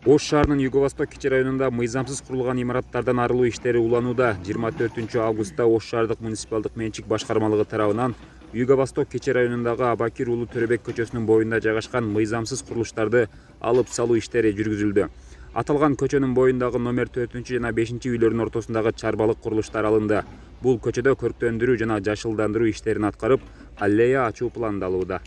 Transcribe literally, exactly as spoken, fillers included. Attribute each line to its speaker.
Speaker 1: Ош шаарынын Юго-Восток кичи районунда мыйзамсыз курулган имараттардан арылуу иштери уланууда. жыйырма төртүнчү августта Ош шаардык муниципалдык менчик башкармалыгы тарабынан Юго-Восток кичи районундагы Абакир уулу Төрөбек көчөсүнүн боюнда жайгашкан мыйзамсыз курулуштарды алып салуу иштери жүргүзүлдү. Аталган көчөнүн боюндагы номер төртүнчү жана бешинчи үйлөрдүн ортосундагы чарбалык курулуштар алынды. Бул көчөдө көрктөндүрүү жана жашылдандыруу иштерин аткарып, аллея ачуу пландалууда.